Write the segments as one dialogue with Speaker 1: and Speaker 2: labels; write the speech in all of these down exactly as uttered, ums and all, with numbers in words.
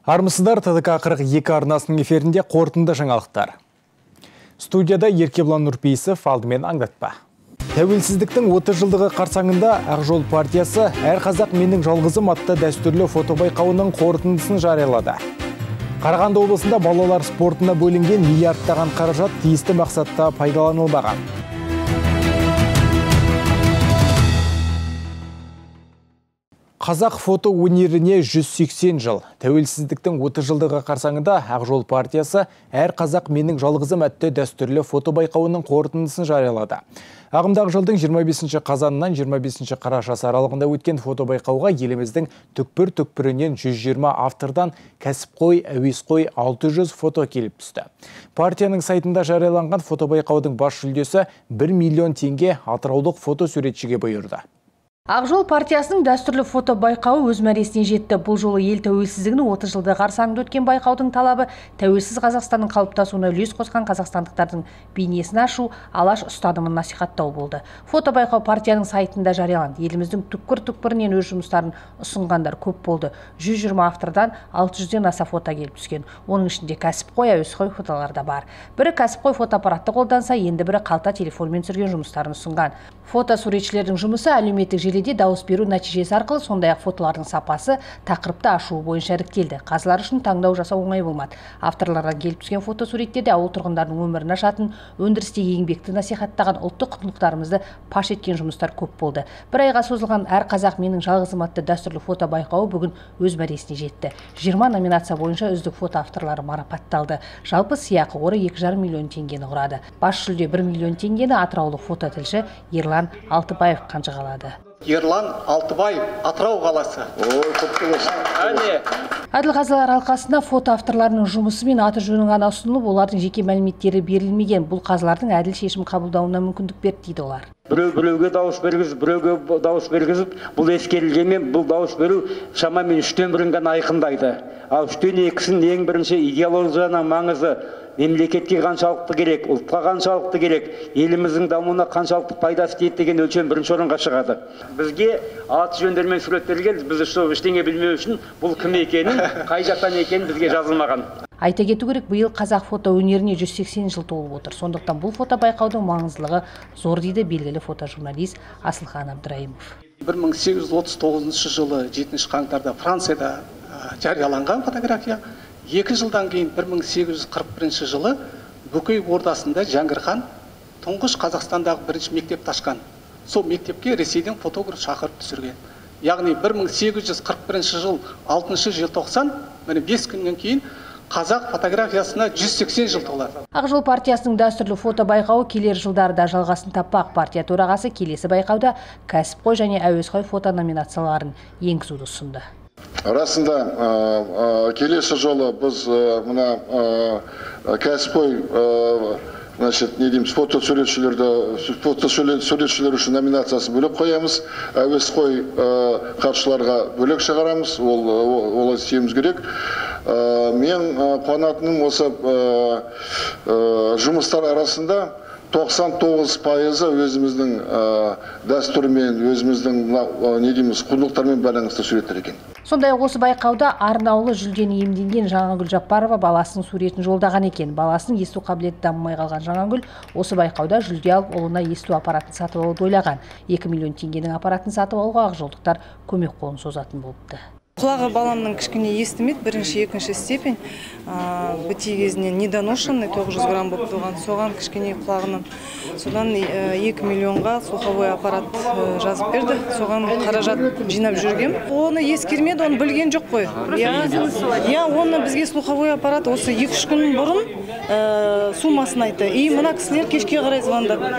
Speaker 1: Армысыздар, ТДК қырық екі арнасының эфирінде қорытынды жаңалықтар. Студияда Еркебұлан Нұрпейісов, алдымен аңдатпа. Тәуелсіздіктің отыз жылдығы қарсаңында Ақ Жол партиясы «Әр қазақ менің жалғызым» атты дәстүрлі фотобайқауының қорытындысын жариялады. Қарағанды облысында балалар спортына бөлінген миллиардтаған қаражат тиісті мақсатта пайдаланылмаған. Қазақ фото өнеріне жүз сексен жыл. Тәуелсіздіктің отыз жылдығы қарсаңында Ақ Жол партиясы «Әр қазақ менің жалғызым» атты дәстүрлі фотобайқауының қорытындысын жариялады. Ағымдағы жылдың жиырма бесінші қазанынан жиырма бесінші қарашасы аралығында өткен фотобайқауға еліміздің түкпір-түкпірінен жүз жиырма автордан кәсіпқой, әуесқой алты жүз фото келіп түсті. Партияның сайтында жарияланған фотобайқаудың бас жүлдесі бір миллион теңге атыраулық фотосуретшіге бұйырды.
Speaker 2: Ақ Жол партиясының дәстүрлі фото байқауы өз мәресіне жетті. Бұл жолы ел тәуелсіздігінің отыз жылдығы қарсаңында өткен байқаудың талабы тәуелсіз Қазақстанның қалыптасуына үлес қосқан қазақстандықтардың бейнесін ашу, алаш ұстанымын насихаттау болды. Фото байқау партияның сайтында жарияланды. Еліміздің түкпір-түкпірінен өз жұмыстарын ұсынғандар көп болды. жүз жиырма автордан алты жүзден аса фото келіп түскен. Оның ішінде кәсіпқой, әуесқой фотолар да бар. Бірі кәсіпқой фотоаппаратты қолданса, енді бірі қалта телефонмен түсірген жұмыстарын ұсынған. Фото суретшілердің жұмысы әлеуметтік желіде дауыс беру нәтижесі арқылы, сондай-ақ фотолардың сапасы тақырыпты ашуы бойынша іріктелді. Қазылар үшін таңдау жасау оңай болмады. Авторлардан келіп түскен фото суреттерде ауыл тұрғындарының өмірін ашатын, өндірістегі еңбекті насихаттаған, ұлттық құндылықтарымызды паш еткен жұмыстар көп болды. Бір айға созылған «Әр қазақ менің жалғызым» атты дәстүрлі фото байқауы бүгін өз мәресіне жетті. жиырма номинация бойынша үздік фото авторлары марапатталды. Жалпы сыйақы қоры екі жарым миллион теңгені құрады. Бас жүлде бір миллион теңгені атыраулық фототілші Ерлан Алтыбаев қанжығалады.
Speaker 3: Ерлан Алтыбаев, Атырау қаласы.
Speaker 2: Әділқазылар алқасында фото авторларының жұмысы мен аты жөнін ғана ұсынылып, олардың жеке мәліметтері берілмеген. Бұл қазылардың әділ шешім қабылдауына мүмкіндік берді дейді олар.
Speaker 4: Біреу-біреуге дауыс бергізіп, біреуге дауыс бергізіп, бұл ескерілгенмен бұл дауыс беру шамамен үштен бірін ғана айқындайды. Ал үштен екісін ең бірінші идеологияның маңызы, мемлекетке қаншалықты керек, ұлтқа қаншалықты керек, еліміздің дамуына қаншалықты пайдасы тиеді деген өлшем бірінші орынға шығады. Бізге аты жөндермен суреттелген, біз ештеңе білмеу үшін бұл кім екенін, қай жақтан екенін бізге жазылмаған.
Speaker 2: Айта кету керек, биыл қазақ фото өнеріне жүз сексен жыл толып отыр. Сондықтан бұл фото байқаудың маңыздылығы зор дейді белгілі фотожурналист Асылхан Абдраимов.
Speaker 3: бір мың сегіз жүз отыз тоғызыншы жылы жетінші қаңтарда Францияда жарияланған фотография. Екі жылдан кейін бір мың сегіз жүз қырық бірінші жылы Бөкей ордасында Жәңгір хан тұңғыш Қазақстандағы бірінші мектепті ашқан. Сол мектепке Ресейден фотограф шақырып түсірген. Яғни бір мың сегіз жүз қырық бірінші жыл алтыншы желтоқсан, міне бес күннен кейін қазақ фотографиясына жүз сексен жыл толады.
Speaker 2: Ақ Жол партиясының дәстүрлі фото байқауы келер жылдарда жалғасын таппақ. Партия төрағасы келесі байқауда кәсіпқой және әуесқой фото номинацияларын енгізуді ұсынды.
Speaker 5: Расында келесі жолы біз мына кәсіпқой значит, не дейміз, фото суретшілерді, фото суретшілер үшін номинациясын бөлек қоямыз, әуесқой қатысушыларға бөлек шығарамыз, ол істеуіміз керек. Мен қуанатыным осы жұмыстар арасында тоқсан тоғыз пайызы өзіміздің дәстүрмен, өзіміздің не дейміз, құндылықтармен байланысты суреттер екен.
Speaker 2: Сондай-ақ осы байқауда арнаулы жүлдені иемденген Жаңагүл Жаппарова баласының суретін жолдаған екен. Баласының есту қабілеті дамымай қалған Жаңагүл осы байқауда жүлде алып, ұлына есту аппаратын сатып алуды ойлаған. екі миллион теңгенің аппаратын сатып алуға ақжолдықтар көмек қолын созатын болыпты.
Speaker 6: Құлағы баламның кішкене естімейді, бірінші, екінші степень, бітей кезінен недоношенный, тоғыз жүз грамм болып туған, соған кішкене құлағынан. Содан екі миллионға слуховой аппарат жазып берді, соған қаражат жинап жүргем. Оны ескермеді, оны білген жоқ қой. Я, оны бізге слуховой аппарат осы екі-үш күн бұрын сумасын айтты. И мына кісілер кешке қарай звондады.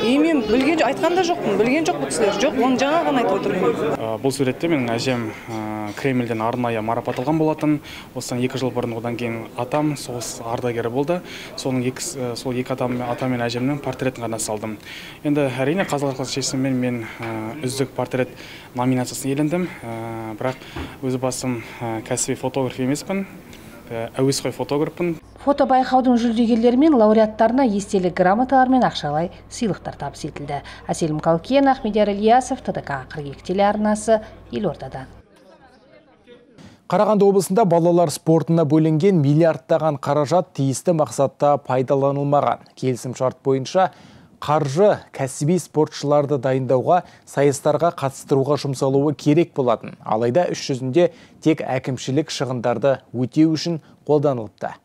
Speaker 6: И мен білген жоқ, айтқанда жоқпын, білген жоқ бұл кісілер. Жоқ, оны жаңа ғана айтып отырмын.
Speaker 7: Бұл суретте менің әжем Кремльден арнайы марапатталған болатын. Осыдан екі жыл бұрын одан кейін атам соғыс ардагері болды. Соның екі, сол екі атам, ата мен әжемнің портретін ғана салдым. Енді әрине қазылар алқасы шешімімен мен үздік портрет номинациясын иелендім. Бірақ өзі басым кәсіби фотограф емеспін, әуесқой фотографпын.
Speaker 2: Фото байқаудың жүлдегерлері мен лауреаттарына естелік грамоталар мен ақшалай сыйлықтар табыс етілді. Әселім Қалкен, Ахмедияр Ильясов, ТДК қырық екі телеарнасы, Елордадан.
Speaker 1: Қарағанды облысында балалар спортына бөлінген миллиардтаған қаражат тиісті мақсатта пайдаланылмаған. Келісім шарт бойынша қаржы кәсіби спортшыларды дайындауға, сайыстарға қатыстыруға жұмсалуы керек болатын. Алайда іс жүзінде тек әкімшілік шығындарды өтеу үшін қолданылыпты.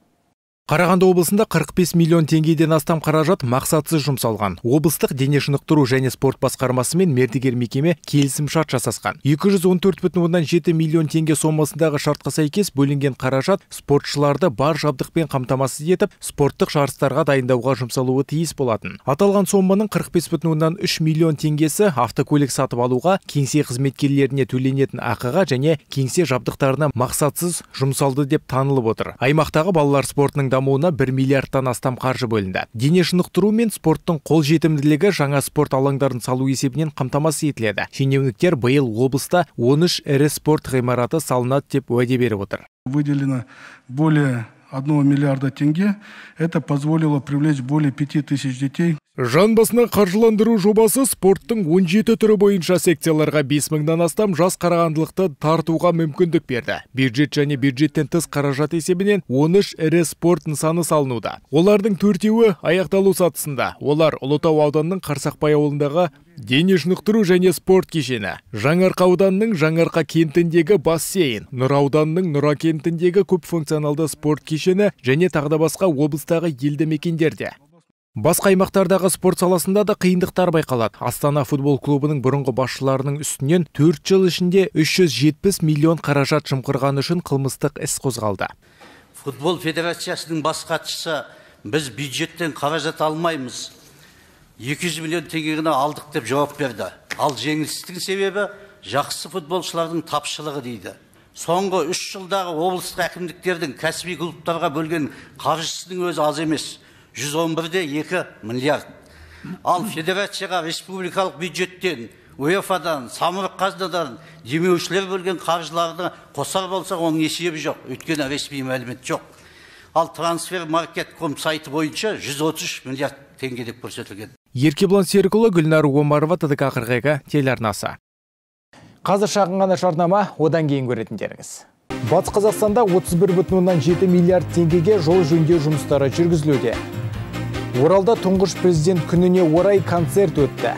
Speaker 1: Қарағанды облысында қырық бес миллион теңгеден астам қаражат мақсатсыз жұмсалған. Облыстық дене шынықтыру және спорт басқармасы мен мердігер мекеме келісім шарт жасасқан. екі жүз он төрт бүтін оннан жеті миллион теңге сомасындағы шартқа сәйкес бөлінген қаражат спортшыларды бар жабдықпен қамтамасыз етіп, спорттық жарыстарға дайындауға жұмсалуы тиіс болатын. Аталған соманың қырық бес бүтін оннан үш миллион теңгесі автокөлік сатып алуға, кеңсе қызметкерлеріне төленетін ақыға және кеңсе жабдықтарына мақсатсыз жұмсалды деп танылып отыр. Аймақтағы балалар спортының дамуына бір миллиардтан астам қаржы бөлінді. Дене шынықтыру мен спорттың қолжетімділігі жаңа спорт алаңдарын салу есебінен қамтамасыз етіледі. Шенеуніктер биыл облыста он үш ірі спорт ғимараты салынады деп уәде беріп отыр.
Speaker 8: Выделено более одного миллиарда тенге. Это позволило привлечь более пяти тысяч детей.
Speaker 1: Жан басына қаржыландыру жобасы спорттың он жеті түрі бойынша секцияларға бес мыңнан астам жас қарағандылықты тартуға мүмкіндік берді. Бюджет және бюджеттен тыс қаражат есебінен он үш ірі спорт нысаны салынуда. Олардың төртеуі аяқталу сатысында. Олар Ұлытау ауданының Қарсақбай ауылындағы дене шынықтыру және спорт кешені, Жаңарқа ауданының Жаңарқа кентіндегі бассейн, Нұра ауданының Нұра кентіндегі көпфункционалды спорт кешені және тағы басқа облыстағы елді мекендерде. Басқа аймақтардағы спорт саласында да қиындықтар байқалады. Астана футбол клубының бұрынғы басшыларының үстінен төрт жыл ішінде үш жүз жетпіс миллион қаражат жымқырғаны үшін қылмыстық іс қозғалды.
Speaker 9: Футбол федерациясының бас хатшысы біз бюджеттен қаражат алмаймыз, екі жүз миллион теңгені алдық деп жауап берді. Ал жеңілістің себебі жақсы футболшылардың тапшылығы дейді. Соңғы үш жылдағы облыстық әкімдіктердің кәсіби клубтарға бөлген қаржысының өзі аз емес. жүз он бір де екі миллиард. Ал федерацияға республикалық бюджеттен, УЕФАдан, самұрық қазынадан демеушілер бөлген қаржыларды қосар болсақ, оның есебі жоқ. Өйткені ресми мәлімет жоқ. Ал трансфер маркет ком сайты бойынша жүз отыз үш миллиард теңге деп көрсетілген.
Speaker 1: Еркебұлан Серікұлы, Гүлнар Омарова, ТДК қырық екі телеарнасы. Қазір шағын ғана жарнама, одан кейін көретіндеріңіз. Батыс Қазақстанда отыз бір бүтін оннан жеті миллиард теңгеге жол жөндеу жұмыстары жүргізілуде. Оралда тұңғыш президент күніне орай концерт өтті.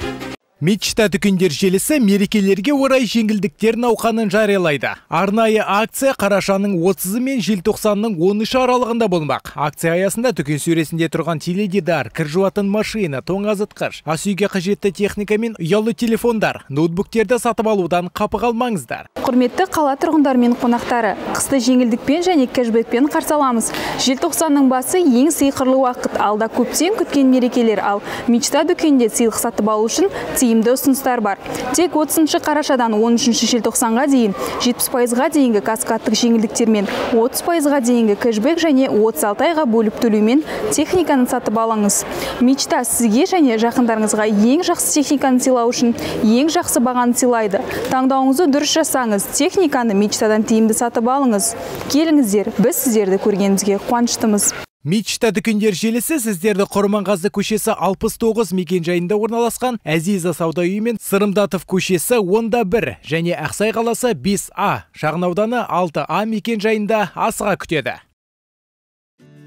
Speaker 1: Мечта дүкендер желісі мерекелерге орай жеңілдіктер науқанын жариялайды. Арнайы акция қарашаның отызы мен желтоқсанның он үші аралығында болмақ. Акция аясында дүкен сөресінде тұрған теледидар, кір жуатын машина, тоңазытқыш, ас үйге қажетті техника мен ұялы телефондар, ноутбуктерді сатып алудан қапы қалмаңыздар.
Speaker 10: Құрметті қала тұрғындар мен қонақтары, қысты жеңілдікпен және кэшбэкпен қарсы аламыз. Желтоқсанның басы ең сыйқырлы уақыт. Алда көптен күткен мерекелер, ал Мечта дүкенде сыйлық сатып алу үшін тиімді ұсыныстар бар. Тек отызыншы қарашадан он үшінші желтоқсанға дейін жетпіс пайызға дейінгі каскадтық жеңілдіктермен, отыз пайызға дейінгі кэшбэк және отыз алты айға бөліп төлеумен техниканы сатып алыңыз. Мечта сізге және жақындарыңызға ең жақсы техниканы сыйлау үшін ең жақсы бағаны сыйлайды. Таңдауыңызды дұрыс жасаңыз, техниканы Мечтадан тиімді сатып алыңыз. Келіңіздер, біз сіздерді көргенімізге қуаныштымыз.
Speaker 1: Мечта дүкендер желісі сіздерді Құрманғазы көшесі алпыс тоғыз мекен жайында орналасқан Әзиза сауда үйі мен Сырымдатов көшесі онда бір және Ақсай қаласы бес А, шағын ауданы алты А мекен жайында асыға күтеді.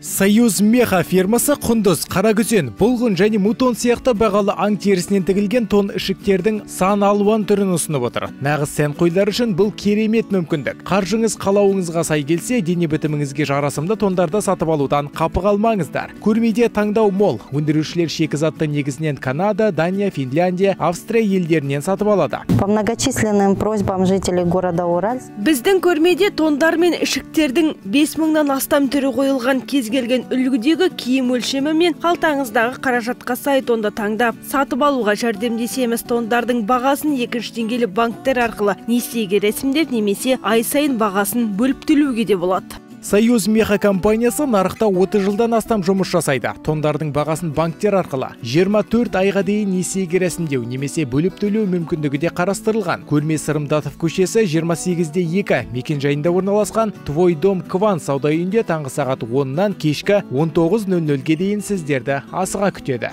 Speaker 1: Союз меха фирмасы құндыз, қаракүзен, бұлғын және мутон сияқты бағалы аң терісінен тігілген тон ішіктердің сан алуан түрін ұсынып отыр. Нағыз сән қойлар үшін бұл керемет мүмкіндік. Қаржыңыз қалауыңызға сай келсе, дене бітіміңізге жарасымды тондарды сатып алудан қапы қалмаңыздар. Көрмеде таңдау мол. Өндірушілер шикізатты негізінен Канада, Дания, Финляндия, Австрия елдерінен сатып алады.
Speaker 11: По многочисленным просьбам жителей города Уральск.
Speaker 12: Біздің көрмеде тондар мен ішіктердің бес мыңнан астам түрі қойылған кез келген үлгідегі киім өлшемі мен қалтаңыздағы қаражатқа сай тонды таңдап сатып алуға жәрдемдесеміз. Тондардың бағасын екінші деңгейлі банктер арқылы несиеге рәсімдеп немесе ай сайын бағасын бөліп төлеуге де болады.
Speaker 1: Союз меха компаниясы нарықта отыз жылдан астам жұмыс жасайды. Тондардың бағасын банктер арқылы жиырма төрт айға дейін несиеге рәсімдеу немесе бөліп төлеу мүмкіндігі де қарастырылған. Көрме Сырымдатов көшесі жиырма сегіз де екі мекен жайында орналасқан Твой дом Кван сауда үйінде таңғы сағат оннан кешкі он тоғыз нөл нөлге дейін сіздерді асыға күтеді.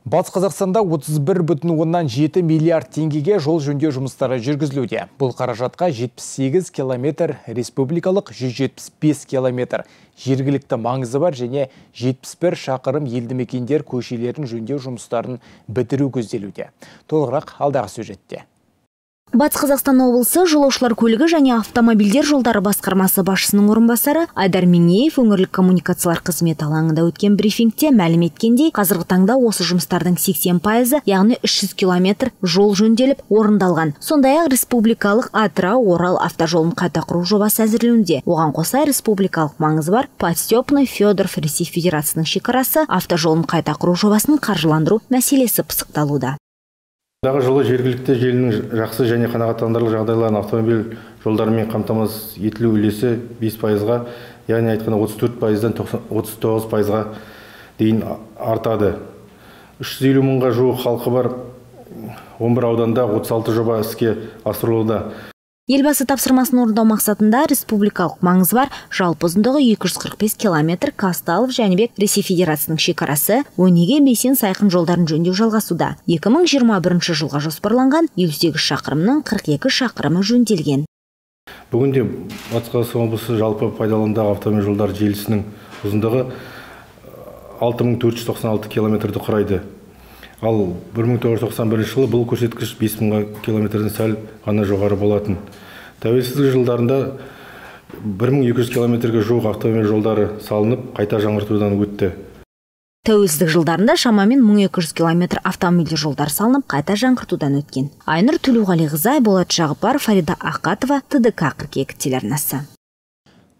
Speaker 1: Батыс Қазақстанда отыз бір бүтін оннан жеті миллиард теңгеге жол жөндеу жұмыстары жүргізілуде. Бұл қаражатқа жетпіс сегіз километр республикалық, жүз жетпіс бес километр жергілікті маңызы бар және жетпіс бір шақырым елді мекендер көшелерін жөндеу жұмыстарын бітіру көзделуде. Толығырақ алдағы сюжетте.
Speaker 13: Батыс Қазақстан облысы жолаушылар көлігі және автомобильдер жолдары басқармасы басшысының орынбасары Айдар Меңеев өңірлік коммуникациялар қызметі алаңында өткен брифингте мәлім еткендей, қазіргі таңда осы жұмыстардың сексен пайызы, яғни үш жүз километр жол жөнделіп орындалған. Сондай-ақ республикалық Атырау-Орал автожолын қайта құру жобасы әзірленуде. Оған қоса республикалық маңызы бар Подстепный Федоров Ресей Федерациясының шекарасы автожолын қайта құру жобасын қаржыландыру мәселесі пысықталуда.
Speaker 14: Дағы жылы жергілікті желінің жақсы және қанағаттандырылған жағдайларын автомобиль жолдарымен қамтамасыз етілу үлесі бес пайызға, яғни айтқанда отыз төрт пайыздан отыз тоғыз пайызға дейін артады. үш жүз елу мыңға жуық халқы бар он бір ауданда отыз алты жоба іске асырылуда.
Speaker 13: Елбасы тапсырмасын орындау мақсатында республикалық маңызы бар жалпы ұзындығы екі жүз қырық бес километр Казталов Жәнібек Ресей Федерациясының шекарасы Өнеге Бейсен Сайқын жолдарын жөндеу жалғасуда. екі мың жиырма бірінші жылға жоспарланған елу сегіз шақырымның қырық екі шақырымы жөнделген.
Speaker 14: Бүгінде Батыс Қазақстан облысы жалпы пайдаланудағы автомобиль жолдар желісінің ұзындығы алты мың төрт жүз тоқсан алты километрді құрайды. Ал бір мың тоғыз жүз тоқсан бірінші жылы бұл көрсеткіш бес мың километрден сәл ғана жоғары болатын. Тәуелсіздік жылдарында бір мың екі жүз километрге жуық автомобиль жолдары салынып, қайта жаңғыртудан өтті.
Speaker 13: Тәуелсіздік жылдарында шамамен мың екі жүз километр автомобиль жолдар салынып, қайта жаңғыртудан өткен. Айнұр Төлеуғалиқызы, Болат Жағыпар, Фарида Ақатова, Т Д К қырық екі телеарнасы.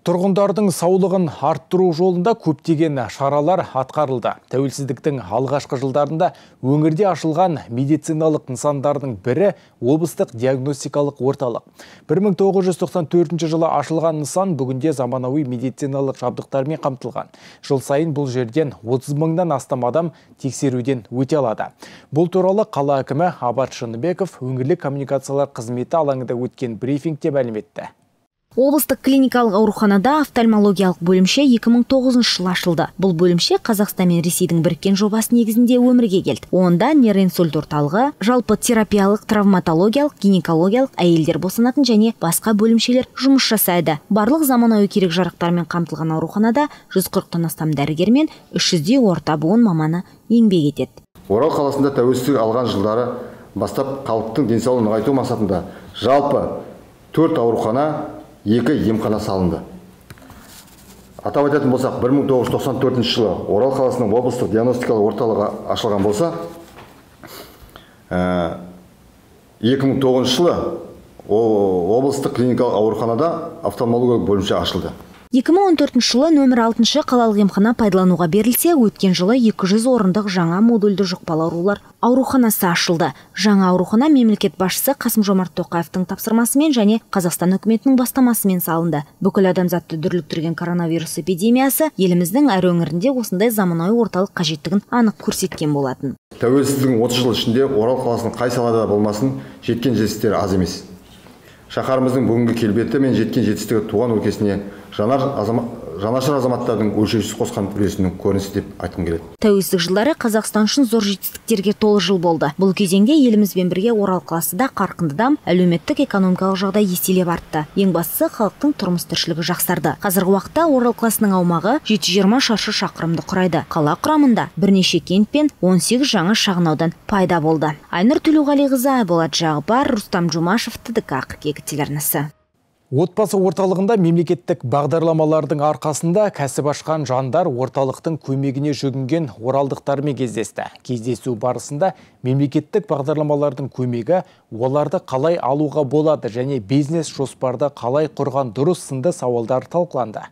Speaker 1: Тұрғындардың саулығын арттыру жолында көптеген шаралар атқарылды. Тәуелсіздіктің алғашқы жылдарында өңірде ашылған медициналық нысандардың бірі облыстық диагностикалық орталық. бір мың тоғыз жүз тоқсан төртінші жылы ашылған нысан бүгінде заманауи медициналық жабдықтармен қамтылған. Жыл сайын бұл жерден отыз мыңнан астам адам тексеруден өте алады. Бұл туралы қала әкімі Абат Шыныбеков өңірлік коммуникациялар қызметі алаңында өткен брифингте мәлім етті.
Speaker 13: Облыстық клиникалық ауруханада офтальмологиялық бөлімше екі мың тоғызыншы жылы ашылды. Бұл бөлімше Қазақстан мен Ресейдің біріккен жобасы негізінде өмірге келді. Онда нейроинсульт орталығы, жалпы терапиялық, травматологиялық, гинекологиялық, әйелдер босанатын және басқа бөлімшелер жұмыс жасайды. Барлық заманауи керек жарақтармен қамтылған ауруханада жүз қырықтан астам дәрігер мен үш жүздей орта буын маманы еңбек етеді.
Speaker 15: Орал қаласында тәуелсіздік алған жылдары бастап халықтың денсаулығын нығайту мақсатында жалпы төрт аурухана, екі емхана салынды. Атап айтатын болсақ, бір мың тоғыз жүз тоқсан төртінші жылы Орал қаласының облыстық диагностикалық орталығы ашылған болса, екі мың тоғызыншы жылы облыстық клиникалық ауруханада офтальмологиялық бөлімше ашылды.
Speaker 13: екі мың он төртінші жылы нөмір алтыншы қалалық емхана пайдалануға берілсе, өткен жылы екі жүз орындық жаңа модульді жұқпалы аурулар ауруханасы ашылды. Жаңа аурухана мемлекет басшысы Қасым-Жомарт Тоқаевтың тапсырмасымен және Қазақстан үкіметінің бастамасымен салынды. Бүкіл адамзатты дүрліктірген коронавирус эпидемиясы еліміздің әр өңірінде осындай заманауи орталық қажеттігін анық көрсеткен болатын.
Speaker 15: Тәуелсіздіктің отыз жыл ішінде Орал қаласының қай салада болмасын жеткен жетістіктері аз емес. Шаһарымыздың бүгінгі келбеті мен жеткен жетістігі туған өлкесіне жанашыр азаматтардың өлшеусіз қосқан үлесінің көрінісі деп айтқым келеді.
Speaker 13: Тәуелсіздік жылдары Қазақстан үшін зор жетістіктерге толы жыл болды. Бұл кезеңде елімізбен бірге Орал қаласы да қарқынды дамып, әлеуметтік экономикалық жағдай еселеп артты. Ең бастысы халықтың тұрмыс тіршілігі жақсарды. Қазіргі уақытта Орал қаласының аумағы жеті жүз жиырма шаршы шақырымды құрайды. Қала құрамында бірнеше кент пен он сегіз жаңа шағын аудан пайда болды. Айнұр Төлеуғалиқызы, Болат Жағыпар, Рустам Жумашев, Т Д К қырық екі телеарнасы.
Speaker 1: Отбасы орталығында мемлекеттік бағдарламалардың арқасында кәсіп ашқан жандар орталықтың көмегіне жүгінген оралдықтармен кездесті. Кездесу барысында мемлекеттік бағдарламалардың көмегі оларды қалай алуға болады және бизнес жоспарды қалай құрған дұрыс сынды сауалдар талқыланды.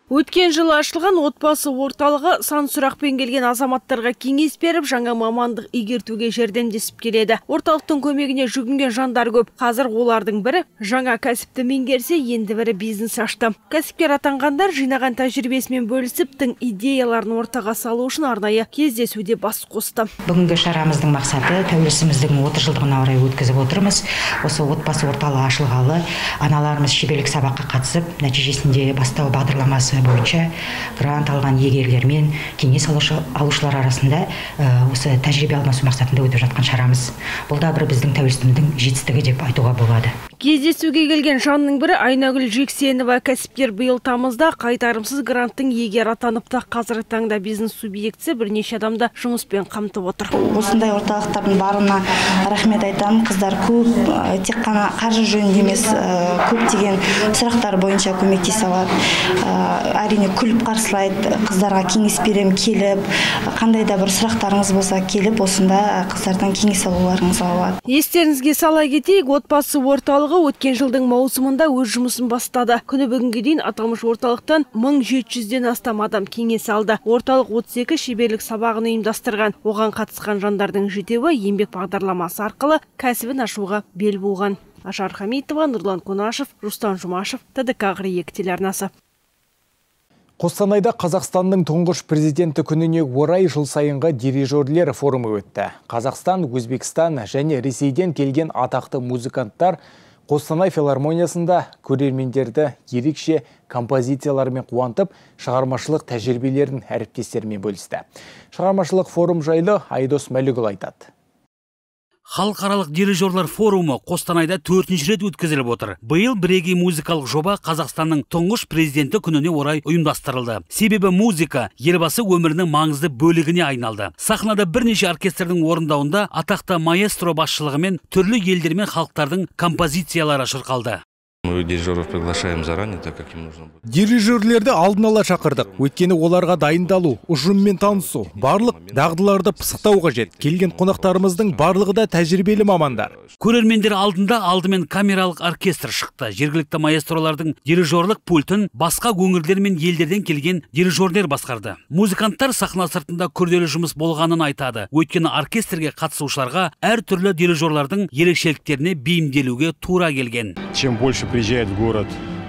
Speaker 12: Өткен жылы ашылған отбасы орталығы сан сұрақпен келген азаматтарға кеңес беріп, жаңа мамандық игертуге жәрдемдесіп келеді. Орталықтың көмегіне жүгінген жандар көп. Қазір олардың бірі жаңа кәсіпті меңгерсе, енді бірі бизнес ашты. Кәсіпкер атанғандар жинаған тәжірибесімен бөлісіп, тың идеяларын ортаға салу үшін арнайы кездесуде бас қосты.
Speaker 16: Бүгінгі шарамыздың мақсаты тәуелсіздігіміздің отыз жылдығына орай өткізіп отырмыз. Осы отбасы орталығы ашылғалы аналарымыз шеберлік сабаққа қатысып, нәтижесінде бастау бағдарламасы бағдарламасы бойынша грант алған егерлермен кеңес алушылар арасында осы тәжірибе алмасу мақсатында өтіп жатқан шарамыз. Бұл да бір біздің тәуелсіздігіміздің жетістігі деп айтуға болады.
Speaker 12: Кездесуге келген жанның бірі Айнагүл Жексенова. Кәсіпкер биыл тамызда қайтарымсыз гранттың егері атаныпты. Қазіргі таңда бизнес субъектісі бірнеше адамды жұмыспен қамтып отыр.
Speaker 17: Осындай орталықтардың барына рахмет айтамын. Қыздар көп, тек қана қаржы жөнінде емес, көптеген сұрақтар бойынша көмектесе алады. Әрине күліп қарсылайды. Қыздарға кеңес берем келіп, қандай да бір сұрақтарыңыз болса келіп, осында қыздардан кеңес алуларыңызға болады.
Speaker 12: Естеріңізге сала кетейік, отбасы орталығы өткен жылдың маусымында өз жұмысын бастады. Күні бүгінге дейін аталмыш орталықтан мың жеті жүзден астам адам кеңес алды. Орталық отыз екі шеберлік сабағын ұйымдастырған. Оған қатысқан жандардың жетеуі еңбек бағдарламасы арқылы кәсібін ашуға бел буған. Ажар Хамитова, Нұрлан Қонашев, Рустам Жұмашев, Т Д К қырық екі телеарнасы.
Speaker 1: Қостанайда Қазақстанның тұңғыш президенті күніне орай жыл сайынғы дирижерлер форумы өтті. Қазақстан, Өзбекстан және Ресейден келген атақты музыканттар Қостанай филармониясында көрермендерді ерекше композициялармен қуантып, шығармашылық тәжірибелерін әріптестерімен бөлісті. Шығармашылық форум жайлы Айдос Мәлігұл айтады.
Speaker 18: Халықаралық дирижерлер форумы Қостанайда төртінші рет өткізіліп отыр. Биыл бірегей музыкалық жоба Қазақстанның тұңғыш президенті күніне орай ұйымдастырылды. Себебі музыка елбасы өмірінің маңызды бөлігіне айналды. Сахнада бірнеше оркестрдің орындауында атақты маэстро басшылығымен түрлі елдер мен халықтардың композициялары шырқалды.
Speaker 19: Мы дирижеров приглашаем заранее, так как им нужно будет.
Speaker 1: Дирижерлерді алдын ала шақырдық. Өйткені оларға дайындалу, ұжыммен танысу, барлық дағдыларды пысықтау қажет. Келген қонақтарымыздың барлығы да тәжірибелі мамандар.
Speaker 18: Көрермендер алдында алдымен камералық оркестр шықты. Жергілікті маэстролардың дирижерлік пультін басқа өңірлер мен елдерден келген дирижерлер басқарды. Музыканттар сахна сыртында күрделі жұмыс болғанын айтады. Өйткені оркестрге қатысушыларға әр түрлі дирижерлардың ерекшеліктеріне бейімделуге тура келген.
Speaker 19: Чем больше приезжает в город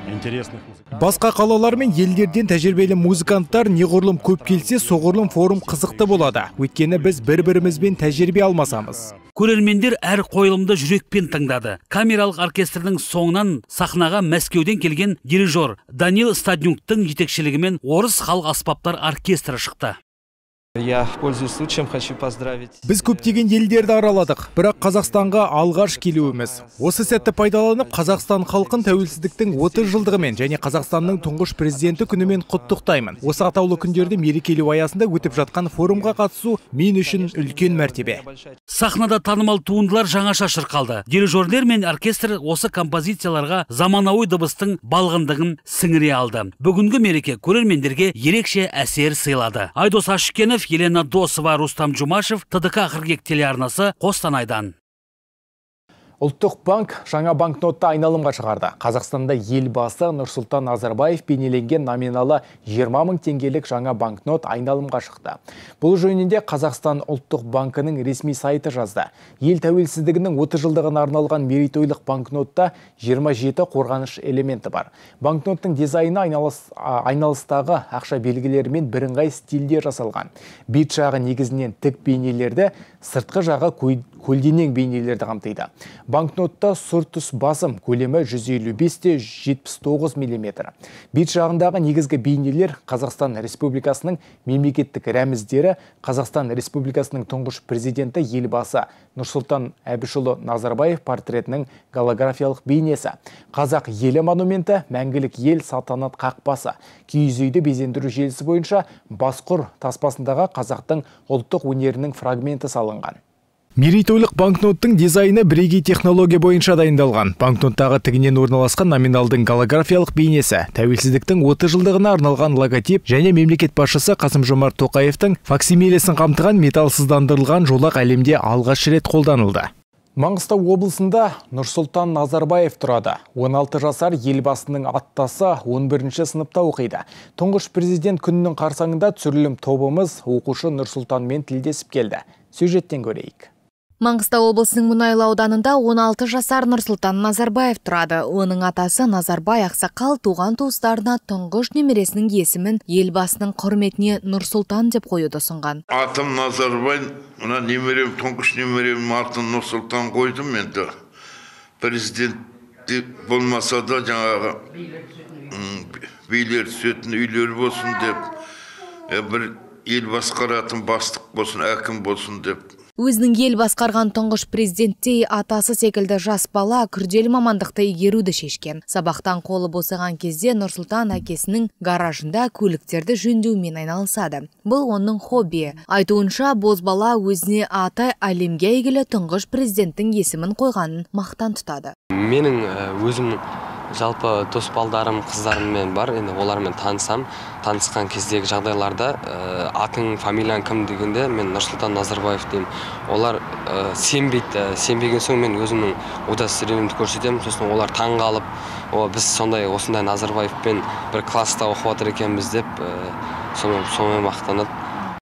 Speaker 19: интересных музыкантов.
Speaker 1: Басқа қалалар мен елдерден тәжірибелі музыканттар неғұрлым көп келсе, соғұрлым форум қызықты болады. Өйткені біз бір-бірімізбен тәжірибе алмасамыз.
Speaker 18: Көрермендер әр қойылымды жүрекпен тыңдады. Камералық оркестрдің соңынан сахнаға Мәскеуден келген дирижер Данил Стаднюктың жетекшілігімен орыс халық аспаптар оркестрі шықты.
Speaker 20: Я, пользуясь случаем, хочу поздравить.
Speaker 1: Біз көптеген елдерді араладық, бірақ Қазақстанға алғаш келуіміз. Осы сәтті пайдаланып, Қазақстан халқын тәуелсіздіктің отыз жылдығымен және Қазақстанның тұңғыш президенті күнімен құттықтаймын. Осы атаулы күндерді мерекелеу аясында өтіп жатқан форумға қатысу мен үшін үлкен мәртебе.
Speaker 18: Сахнада танымал туындылар жаңаша шырқалды. Дирижерлер мен оркестр осы композицияларға заманауи дыбыстың балғындығын сіңіре алды. Бүгінгі мереке көрермендерге ерекше әсер сыйлады. Айдос Ашкенов, Елена Досова, Рустам Жұмашев, Т Д К қырық екі телеарнасы, Қостанайдан.
Speaker 1: Ұлттық банк жаңа банкнотты айналымға шығарды. Қазақстанда елбасы Нұрсұлтан Назарбаев бейнеленген номиналы жиырма мың теңгелік жаңа банкнот айналымға шықты. Бұл жөнінде Қазақстан ұлттық банкының ресми сайты жазды. Ел тәуелсіздігінің отыз жылдығына арналған мерейтойлық банкнотта жиырма жеті қорғаныш элементі бар. Банкноттың дизайны айналыс, айналыстағы ақша белгілерімен бірыңғай стильде жасалған. Бет жағы негізінен тік бейнелерді, сыртқы жағы көлденең бейнелерді қамтиды. Банкнотта сұр түс басым, көлемі жүз елу бес те жетпіс тоғыз миллиметр. Бет жағындағы негізгі бейнелер Қазақстан Республикасының мемлекеттік рәміздері, Қазақстан Республикасының тұңғыш президенті елбасы Нұрсұлтан Әбішұлы Назарбаев портретінің голографиялық бейнесі, Қазақ елі монументі, мәңгілік ел салтанат қақпасы, киіз үйді безендіру желісі бойынша Басқұр таспасындағы қазақтың ұлттық өнерінің фрагменті салынған. Мерейтойлық банкноттың дизайны бірегей технология бойынша дайындалған. Банкноттағы тігінен орналасқан номиналдың голографиялық бейнесі, тәуелсіздіктің отыз жылдығына арналған логотип және мемлекет басшысы Қасым-Жомарт Тоқаевтың факсимилесін қамтыған металсыздандырылған жолақ әлемде алғаш рет қолданылды. Маңғыстау облысында Нұрсұлтан Назарбаев тұрады. он алты жасар елбасының аттасы он бірінші сыныпта оқиды. Тұңғыш президент күнінің қарсаңында түсірілім тобымыз оқушы Нұрсұлтанмен тілдесіп келді. Сюжеттен көрейік.
Speaker 21: Маңғыстау облысының Мұнайлы ауданында он алты жасар Нұрсұлтан Назарбаев тұрады. Оның атасы Назарбай ақсақал туған туыстарына тұңғыш немересінің есімін елбасының құрметіне Нұрсұлтан деп қоюды ұсынған.
Speaker 22: Атым Назарбай, мына немерем, тұңғыш немерем атын Нұрсұлтан қойдым енді. Президент болмаса да жаңағы билер түсетін үйлер болсын деп, бір ел басқаратын бастық болсын, әкім болсын деп.
Speaker 21: Өзінің ел басқарған тұңғыш президенттей атасы секілді жас бала күрделі мамандықты игеруді шешкен. Сабақтан қолы босаған кезде Нұрсұлтан әкесінің гаражында көліктерді жөндеумен айналысады. Бұл оның хоббиі. Айтуынша, бозбала өзіне аты әлемге әйгілі тұңғыш президенттің есімін қойғанын мақтан тұтады.
Speaker 3: Менің өзім жалпы дос балдарым, қыздарыммен бар, енді олармен танысам. Танысқан кездегі жағдайларда атың, фамилияң кім дегенде мен Нұрсұлтан Назарбаев деймін. Олар сенбейді. Сенбеген соң мен өзімнің удостоверениемді көрсетемін. Сосын олар таң қалып, біз сондай осындай Назарбаевпен бір класста оқып отыр екенбіз деп сонымен мақтанады.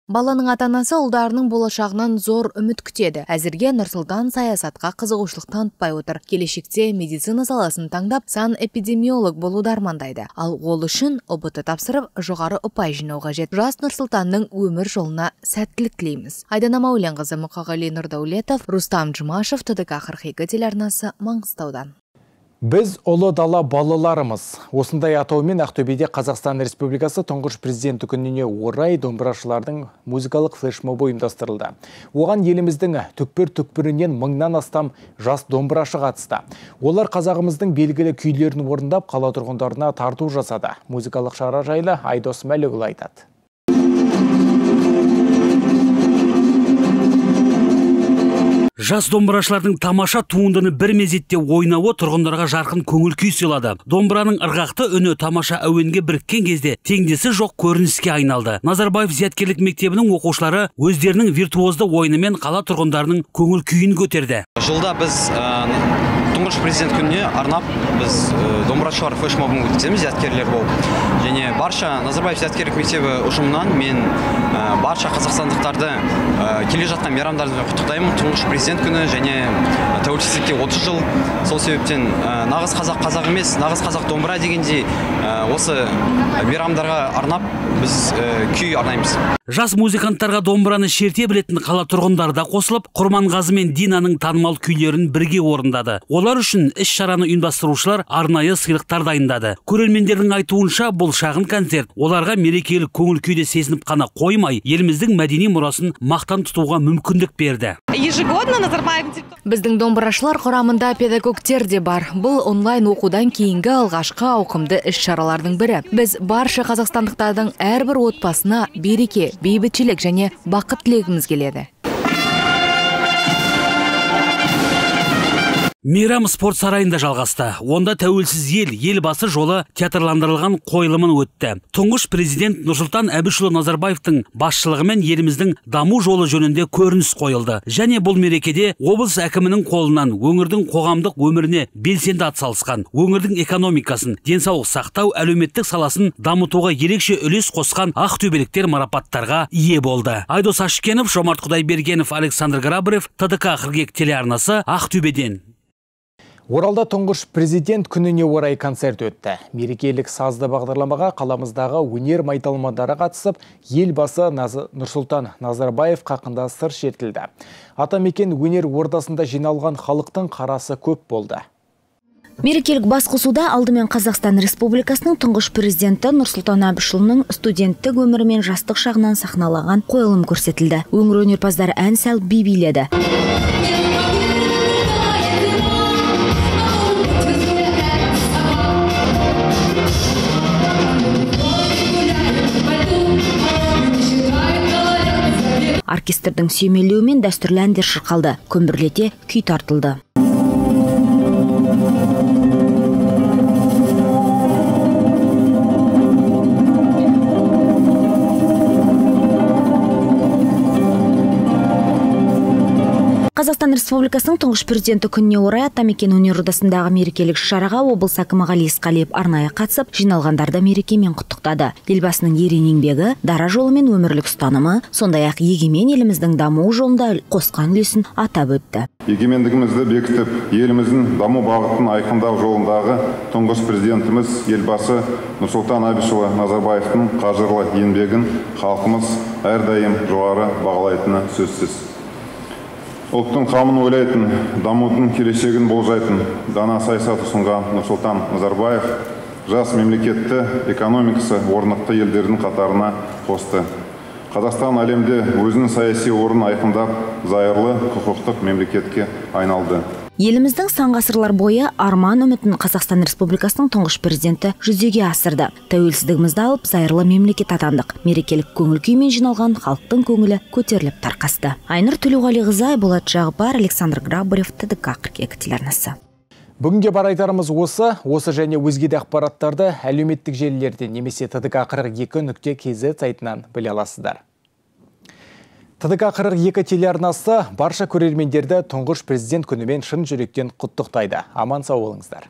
Speaker 21: Баланың ата-анасы ұлдарының болашағынан зор үміт күтеді. Әзірге Нұрсұлтан саясатқа қызығушылық танытпай отыр. Келешекте медицина саласын таңдап, санэпидемиолог болуды армандайды. Ал ол үшін ұбт тапсырып, жоғары ұпай жинау қажет. Жас Нұрсұлтанның өмір жолына сәттілік тілейміз. Айдана Мәуленқызы, Мұқағали Нұрдаулетов, Рустам Жұмашев, ТДК қырық екі телеарнасы, Маңғыстаудан.
Speaker 1: Біз ұлы дала балаларымыз. Осындай атаумен Ақтөбеде Қазақстан Республикасы тұңғыш президенті күніне орай домбырашылардың музыкалық флешмобы ұйымдастырылды. Оған еліміздің түкпір-түкпірінен мыңнан астам жас домбырашы қатысты. Олар қазағымыздың белгілі күйлерін орындап, қала тұрғындарына тарту жасады. Музыкалық шара жайлы Айдос Мәлікұлы айтады.
Speaker 18: Жас домбырашылардың тамаша туындыны бір мезетте ойнауы тұрғындарға жарқын көңіл күй сыйлады. Домбыраның ырғақты үні тамаша әуенге біріккен кезде теңдесі жоқ көрініске айналды. Назарбаев зияткерлік мектебінің оқушылары өздерінің виртуозды ойынымен қала тұрғындарының көңіл күйін көтерді.
Speaker 4: Жылда біз тұңғыш президент күніне арнап біз домбырашылар флешмобын өткіземіз, зияткерлер болып. Және барша Назарбаев зияткерлік мектебі ұжымынан мен барша қазақстандықтарды келе жатқан мейрамдарымен құттықтаймын. Тұңғыш президент күні және тәуелсіздікке отыз жыл. Сол себептен нағыз қазақ қазақ емес, нағыз қазақ домбыра дегендей осы мейрамдарға арнап біз күй арнаймыз.
Speaker 18: Жас музыканттарға домбыраны шерте білетін қала тұрғындары да қосылып, Құрманғазы мен Динаның танымал күйлерін бірге орындады. Олар үшін іс-шараны ұйымдастырушылар арнайы сыйлықтар дайындады. Көрермендердің айтуынша, бұл шағын концерт оларға мерекелік көңіл күйде сезініп қана қоймай, еліміздің мәдени мұрасын мақтан тұтуға мүмкіндік берді.
Speaker 21: Біздің домбырашылар құрамында педагогтер де бар. Бұл онлайн оқудан кейінгі алғашқы ауқымды іс-шаралардың бірі. Біз барша қазақстандықтардың әрбір отбасына береке, бейбітшілік және бақыт тілегіміз келеді.
Speaker 18: Мейрам спорт сарайында жалғасты. Онда тәуелсіз ел, елбасы жолы театрландырылған қойылымын өтті. Тұңғыш президент Нұрсұлтан Әбішұлы Назарбаевтың басшылығымен еліміздің даму жолы жөнінде көрініс қойылды. Және бұл мерекеде облыс әкімінің қолынан өңірдің қоғамдық өміріне белсенді атсалысқан, өңірдің экономикасын, денсаулық сақтау, әлеуметтік саласын дамытуға ерекше үлес қосқан ақтөбеліктер марапаттарға ие болды. Айдос Ашкенов, Жомарт Құдайбергенов, Александр Грабарев, ТДК қырық екі телеарнасы, Ақтөбеден.
Speaker 1: Оралда тұңғыш президент күніне орай концерт өтті. Мерекелік сазды бағдарламаға қаламыздағы өнер майталмандары қатысып, елбасы Нұрсұлтан Назарбаев хақында сыр шертілді. Атамекен өнер ордасында жиналған халықтың қарасы көп болды.
Speaker 13: Мерекелік басқосуда алдымен Қазақстан Республикасының тұңғыш президенті Нұрсұлтан Әбішұлының студенттік өмірі мен жастық шағынан сахналаған қойылым көрсетілді. Өңір өнерпаздары ән салып би биледі. Оркестрдің сүйемелеуімен дәстүрлі әндер шырқалды, көмбірлете күй тартылды. Қазақстан Республикасының тұңғыш президенті күніне орай Атамекен өнер ордасындағы мерекелік шараға облыс әкімі Ғали Есқалиев арнайы қатысып, жиналғандарды мерекемен құттықтады. Елбасының ерен еңбегі, дара жолы мен өмірлік ұстанымы, сондай-ақ егемен еліміздің даму жолында қосқан үлесін атап өтті.
Speaker 23: Егемендігімізді бекітіп, еліміздің даму бағытын айқындау жолындағы тұңғыш президентіміз елбасы Нұрсұлтан Әбішұлы Назарбаевтың қажырлы еңбегін халқымыз әрдайым жоғары бағалайтыны сөзсіз. Ұлттың қамын ойлайтын, дамудың келешегін болжайтын дана саясат ұсынған Нұрсұлтан Назарбаев жас мемлекетті экономикасы орнықты елдердің қатарына қосты. Қазақстан әлемде өзінің саяси орнын айқындап, зайырлы құқықтық мемлекетке айналды.
Speaker 13: Еліміздің сан ғасырлар бойы арман үмітін Қазақстан Республикасының тұңғыш президенті жүзеге асырды. Тәуелсіздігімізді алып, зайырлы мемлекет атандық. Мерекелік көңіл күймен жиналған халықтың көңілі көтеріліп тарқасты. Айнұр Төлеуғалиқызы, Болат Жағыпар, Александр Грабарев, Т Д К қырық екі телеарнасы.
Speaker 1: Бүгінге бар айтарымыз осы, осы және өзге де ақпараттарды әлеуметтік желілерде немесе Т Д К қырық екі нүкте К З сайтынан біле аласыздар. Т Д К қырық екі телеарнасы барша көрермендерді тұңғыш президент күнімен шын жүректен құттықтайды. Аман сау болыңыздар.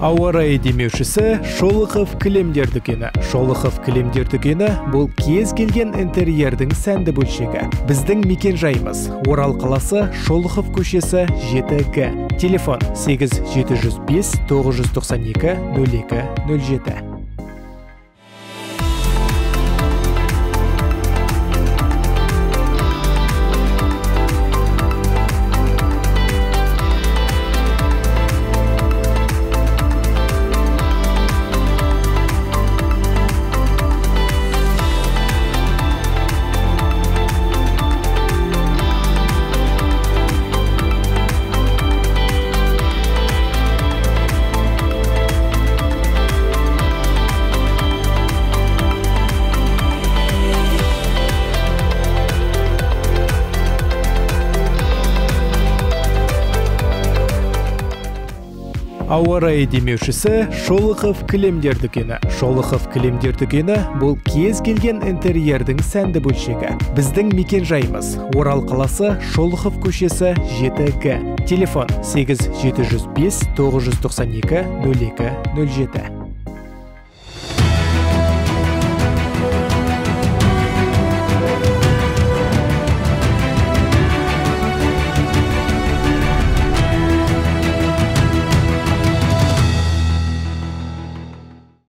Speaker 1: Ауа райы демеушісі Шолохов кілемдер дүкені. Шолохов кілемдер дүкені бұл кез келген интерьердің сәнді бөлшегі. Біздің мекен жайымыз Орал қаласы, Шолохов көшесі жеті Г. Телефон сегіз жеті жүз бес тоғыз жүз тоқсан екі нөл екі нөл жеті. Ауа райы демеушісі Шолохов кілемдер дүкені. Шолохов кілемдер дүкені бұл кез келген интерьердің сәнді бөлшегі. Біздің мекен жайымыз Орал қаласы, Шолохов көшесі жеті Г. Телефон сегіз жеті жүз бес тоғыз жүз тоқсан екі нөл екі нөл жеті.